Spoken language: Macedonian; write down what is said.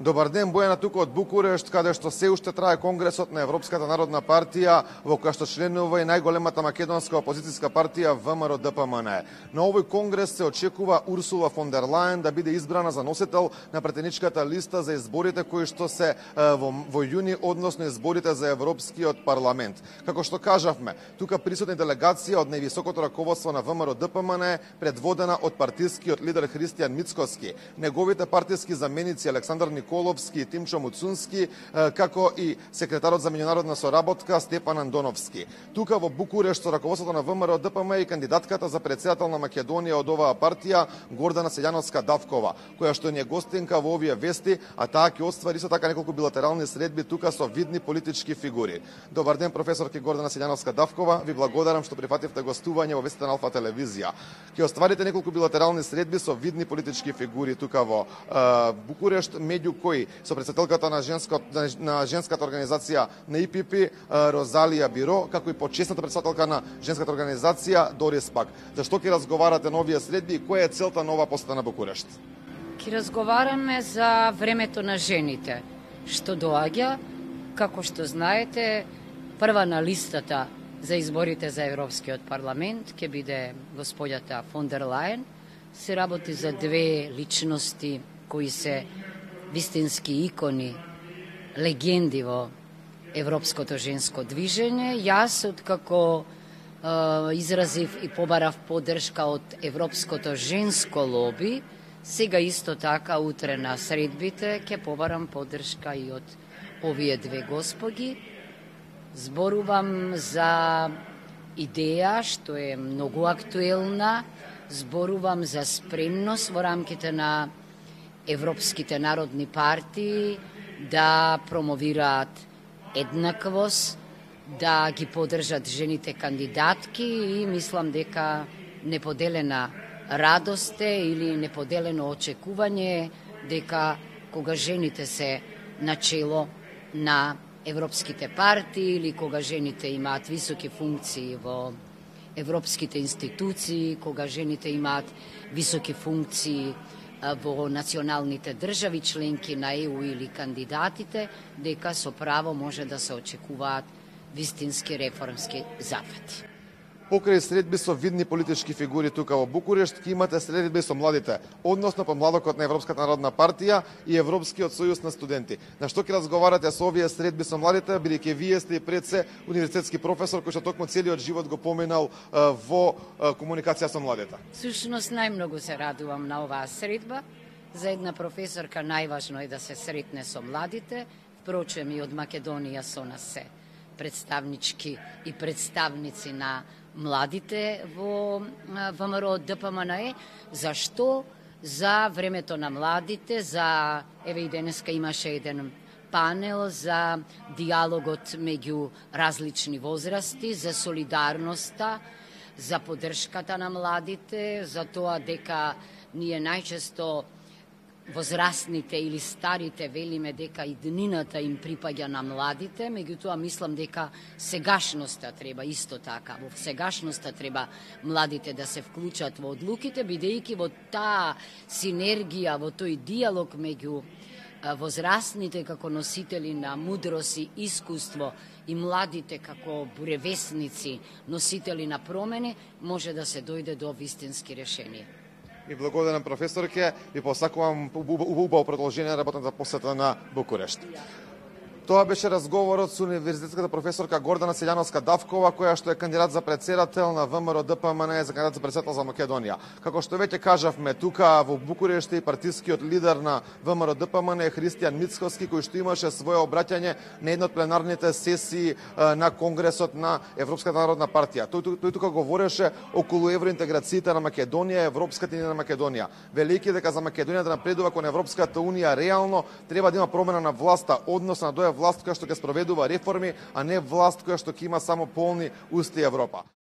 Добар ден, Бојана тука од Букурешт, каде што се уште трае Конгресот на Европската народна партија, во која што членува и најголемата македонска опозицијска партија ВМРО-ДПМН. На овој конгрес се очекува Урсула фон дер Лајен да биде избрана за носител на претеничката листа за изборите кои што се во јуни, односно изборите за Европскиот парламент. Како што кажавме, тука присутна делегација од највисокото раководство на ВМРО-ДПМН, предводена од партискиот лидер Христијан Мицкоски, неговите партиски заменици Александар Николовски и Тимчо Муцунски, како и секретарот за меѓународна соработка Степан Андоновски. Тука во Букурешт со раководството на ВМРО-ДПМН и кандидатката за претседател на Македонија од оваа партија Гордана Селјановска Давкова, која што ни е гостинка во овие вести, а таа ќе оствари исто така неколку билатерални средби тука со видни политички фигури. Добар ден, професорке Гордана Селјановска Давкова, ви благодарам што прифативте гостување во вестите на Алфа телевизија. Ќе остварите неколку билатерални средби со видни политички фигури тука во Букурешт, меѓу кои со претседателката на женската организација на ИПП Розалија Биро, како и почесната претседателка на женската организација Дорис Пак. Зашто ќе разговарате на овие средби и која е целта на оваа посета на Букурешт? Ќе разговараме за времето на жените, што доаѓа, како што знаете, прва на листата за изборите за Европскиот парламент ќе биде господјата фон дер Лајен. Се работи за две личности кои се вистински икони, легенди во европското женско движење. Јас, откако изразив и побарав поддршка од европското женско лоби, сега исто така утре на средбите ќе побарам поддршка и од овие две господи. Зборувам за идеја што е многу актуелна, зборувам за спремност во рамките на европските народни партии да промовираат еднаквост, да ги поддржат жените кандидатки и мислам дека неподелена радост е или неподелено очекување дека кога жените се начело на европските партии или кога жените имаат високи функции во европските институции, кога жените имаат високи функции во националните држави членки на ЕУ или кандидатите, дека со право може да се очекуваат вистински реформски зафати. Покрај средби со видни политички фигури тука во Букурешт, ќе имате средби со младите, односно помладокот на Европската народна партија и Европскиот сојуз на студенти. На што ќе разговарате со овие средби со младите, бидејќи вие сте и пред се универзитетски професор кој што токму целиот живот го поминал во комуникација со младите? Всушност најмногу се радувам на оваа средба. За една професорка најважно е да се сретне со младите, впрочем и од Македонија со нас се представнички и представници на младите во ВМРО-ДПМН. Зашто? За времето на младите, за еве и денеска имаше еден панел за диалогот меѓу различни возрасти, за солидарноста, за поддршката на младите, за тоа дека ние најчесто возрастните или старите велиме дека иднината им припаѓа на младите, меѓутоа мислам дека сегашноста треба исто така. Во сегашноста треба младите да се вклучат во одлуките, бидејќи во таа синергија, во тој диалог меѓу возрастните како носители на мудрост и искуство и младите како буревесници, носители на промени, може да се дојде до вистински решенија. И благодарам, професорке, и посакувам убаво продолжение на работната посета на Букурешт. Тоа беше разговорот со универзитетската професорка Гордана Селјановска Давкова, која што е кандидат за претседател на ВМРО-ДПМН за кандидат за претседател за Македонија. Како што веќе кажавме, тука во Букурешт и партискиот лидер на ВМРО-ДПМН е Христијан Мицкоски, кој што имаше свое обраќање на една од пленарните сесии на Конгресот на Европската народна партија. Тој тука говореше околу евроинтеграциите на Македонија, Европската унија на Македонија, велејќи дека за Македонија да напредува кон Европската унија реално треба да има промена на власта, односно на власт која што ќе спроведува реформи, а не власт која што ќе има само полни усти Европа.